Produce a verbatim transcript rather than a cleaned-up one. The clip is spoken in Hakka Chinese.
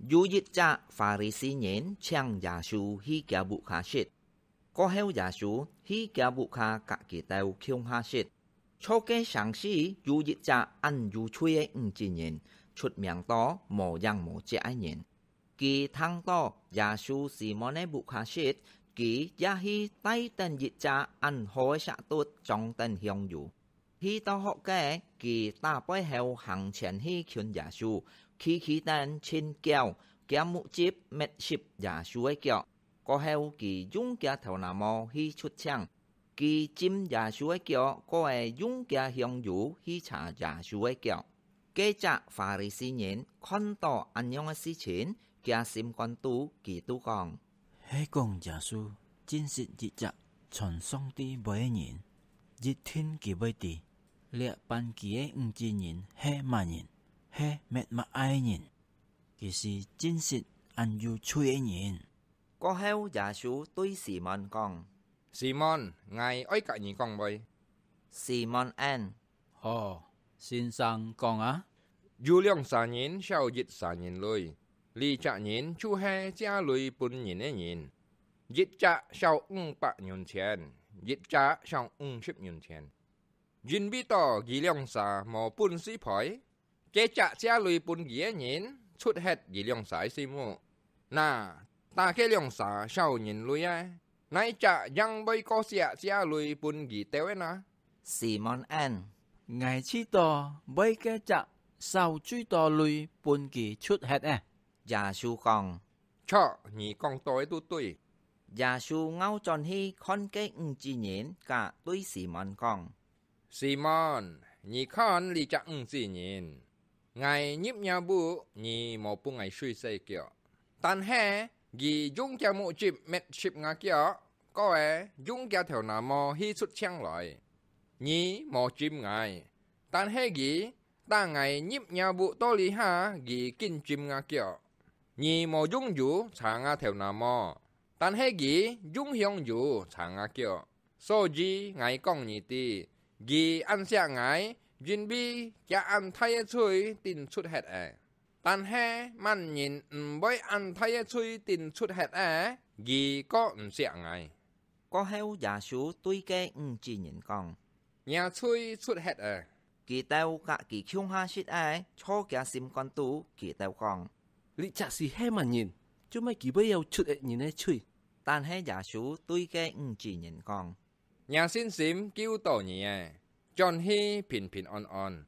有一隻法利賽人請耶穌去厥屋下食。過後耶穌去厥屋下佮佢兜共下食。坐該成時有一隻恁有罪个女子人，出名到無影無跡个人。佢聽到耶穌在Simon个屋下食，佢也去帶等一隻恁好个石鏨裝等香油。去到屋下，佢打背後行前去近耶穌，企企等盡噭，厥目汁搣濕耶穌个腳。過後佢用厥頭那毛去捽淨，佢浸耶穌个腳，過仔用厥香油去擦耶穌个腳。該隻法利賽人看到恁樣个事情，厥心肝肚佢就講：係講耶穌真實一隻傳上帝話个人，一定佢會知，這辦佢个女子人係麼人，係搣麼个人。佢係真實恁有罪个人。過後耶穌對Simon講：「Simon，𠊎愛佮你講話。」Simon應：「好，先生講啊。」「有兩儕人燒一儕人鐳，這隻人就係借鐳分人个人。一隻燒五百銀錢，一隻燒五十銀錢。因為到佢兩儕無本事賠，該隻借鐳分佢个人捽忒佢兩儕个心目。那，打該兩儕燒人鐳个，哪一隻正會過惜借鐳分佢兜个呢？」Simon應：「𠊎知道會該隻燒最多鐳分佢捽忒个。」耶穌講：「著，你講著个就對。」耶穌𠢕轉去看該女子人，佮對Simon講：「Simon，你看這隻女子人，𠊎入若屋，你無分𠊎水洗腳，但係佢用厥目汁搣濕吾腳，過仔用厥頭那毛去捽淨來。你無浸𠊎，但係佢，打𠊎入若屋到這下，佢緊浸吾腳。你無用油擦吾頭那毛，但係佢用香油擦吾腳。所以𠊎講你知，佢恁惜𠊎，因為厥恁大个罪定捽忒了。但係麼人毋會恁大个罪定捽忒了，佢過毋惜𠊎。」過後耶穌對該女子人講：「若罪捽忒了。」佢兜佮佢共下食个，著厥心肝肚，佢兜講：「這隻係係麼人，做麼佢會曉捽忒人个罪？」但係耶穌對該女子人講：「若信心救著你了，轉去平平安安，